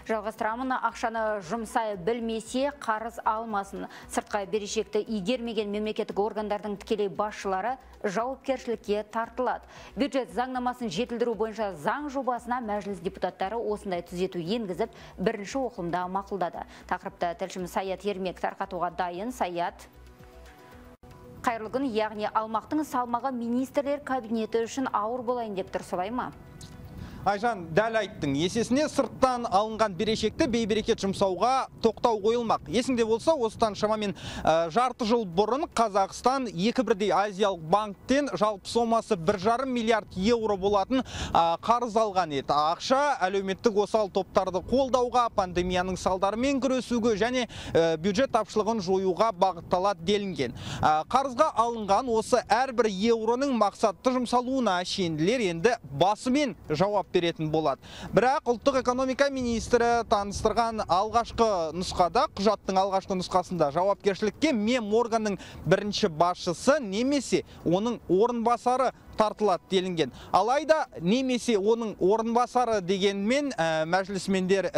Жалғастырамын, ақшаны жұмсай білмесе қарыз алмасын. Сыртқа берешекті игермеген мемлекеттік органдардың тікелей басшылары жауапкершілікке тартылады. Бюджет заңнамасын жетілдіру бойынша заң жобасына мәжіліс депутаттары осындай түзету енгізіп, бірінші оқылымда мақұлдады. Тақырыпты тілшіміз Саят Ермек тарқатуға дайын. Саят. Қайырлы күн, яғни алмақтың салмағы министрлер кабинеті үшін ауыр болайын деп тұр, солай ма? Айжан, дәл айттың. Есесіне сырттан алынған берешекті бейберекет жұмсауға тоқтау қойылмақ. Есіңде болса, осыдан шамамен жарты жыл бұрын Қазақстан екі бірдей Азиялық банктен жалпы сомасы 1,5 миллиард евро болатын қарыз алған еді. Ақша әлеуметтік осал топтарды қолдауға, пандемияның салдарымен күресуге және бюджет тапшылығын жоюға бағытталады делінген. Қарызға алынған осы әрбір евроның мақсатты жұмсалуына шенділер енді басымен жауап беретін болады. Бірақ ұлттық экономика министрі таныстырған алғашқы нұсқада, құжаттың алғашқы нұсқасында жауапкершілікке меморганның бірінші басшысы немесе оның орынбасары тартылады делінген. Алайда немесе оның орынбасары дегенмен мәжілісмендер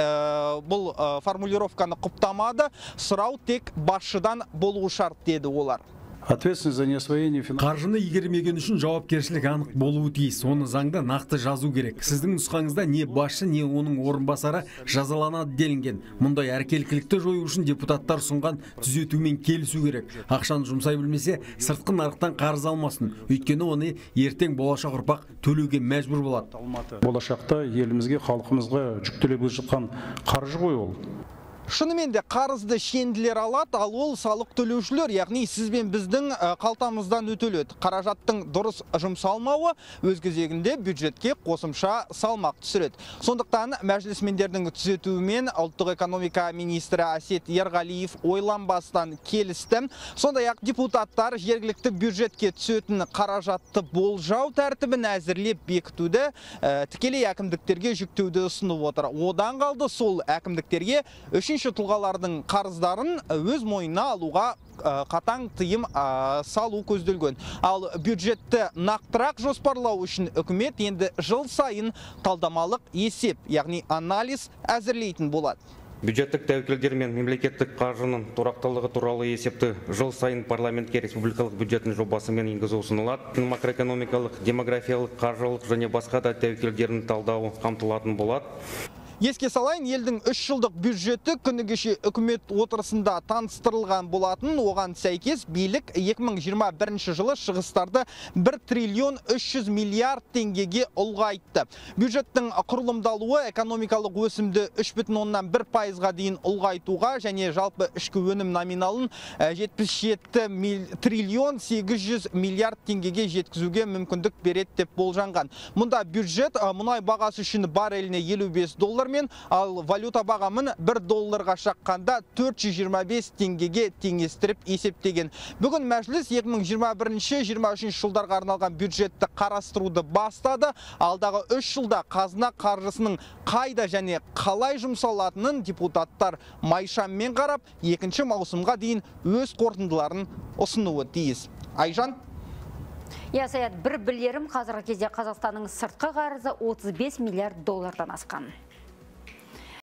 бұл формулировканы құптамады. Сұрау тек басшыдан болуы шарт деді олар. Ответственность за неосвоение қаржыны игермеген үшін жауапкершілік анық болуы тиіс. Оны заңда нақты жазу керек. Сіздің нұсқаңызда не басшы, не оның орынбасары жазаланады делінген. Мұндай әркелкілікті жою үшін депутаттар ұсынған түзетумен келісу керек. Ақшаны жұмсай білмесе, сыртқы нарықтан қарыз алмасын. Өйткені оны ертең болашақ ұрпақ төлеуге мәжбүр болады. Болашақта елімізге, халқымызға жүктеліп жатқан қаржы ғой ол. Шынымен де қарызды шенділер алады, ал ол салық төлеушілер, яғни сіз бен біздің қалтамыздан өтеледі. Қаражаттың дұрыс жұмсалмауы өз кезегінде бюджетке қосымша салмақ түсіреді. Сондықтан мәжілісмендердің түзетуімен ұлттық экономика министрі Әсет Ерғалиев ойланбастан келісті. Сондай-ақ депутаттар жергілікті бюджетке түсетін қаражатты болжау тәртібін әзірлеп бекітуді, тікелей әкімдіктерге жүктеуді ұсынып отыр. Одан қалды сол әкімдіктерге үшінші тұлғалардың қарыздарын өз мойнына алуға қатаң тыйым салу көзделген. Ал бюджетті нақтырақ жоспарлау үшін үкімет енді жыл сайын талдамалық есеп, яғни анализ әзірлейтін болады. Бюджеттік тәуекелдер мен мемлекеттік қаржының тұрақтылығы туралы есепті жыл сайын парламентке республикалық бюджеттің жобасымен енгізу ұсынылады. Макроэкономикалық, демографиялық, қаржылық және басқа да тәуекелдердің талдауы қамтылатын болады. Еске салайын, елдің 3 жылдық бюджеті күні кеше үкімет отырысында таныстырылған болатын. Оған сәйкес билік 2021 жылы шығыстарды 1 триллион 300 миллиард теңгеге ұлғайтты. Бюджеттің құрылымдалуы экономикалық өсімді 3,1%-ға дейін ұлғайтуға және жалпы ішкі өнім номиналын 77 триллион 800 миллиард теңгеге жеткізуге мүмкіндік береді деп болжанған. Мұнда бюджет мұнай бағасы үшін барреліне $55 мен, ал валюта бағамын $1 шаққанда 425 теңгеге теңестіріп есептеген. Бүгін мәжіліс 2021-2023 жылдарға арналған бюджетті қарастыруды бастады. Алдағы 3 жылда қазына қаржысының қайда және қалай жұмсалатынын депутаттар майшаммен қарап, 2 маусымға дейін өз қорытындыларын ұсынуы тиіс. Айжан? Саят, бір білерім, қазіргі кезде Қазақстанның сыртқы қарызы $35 миллиард асқан.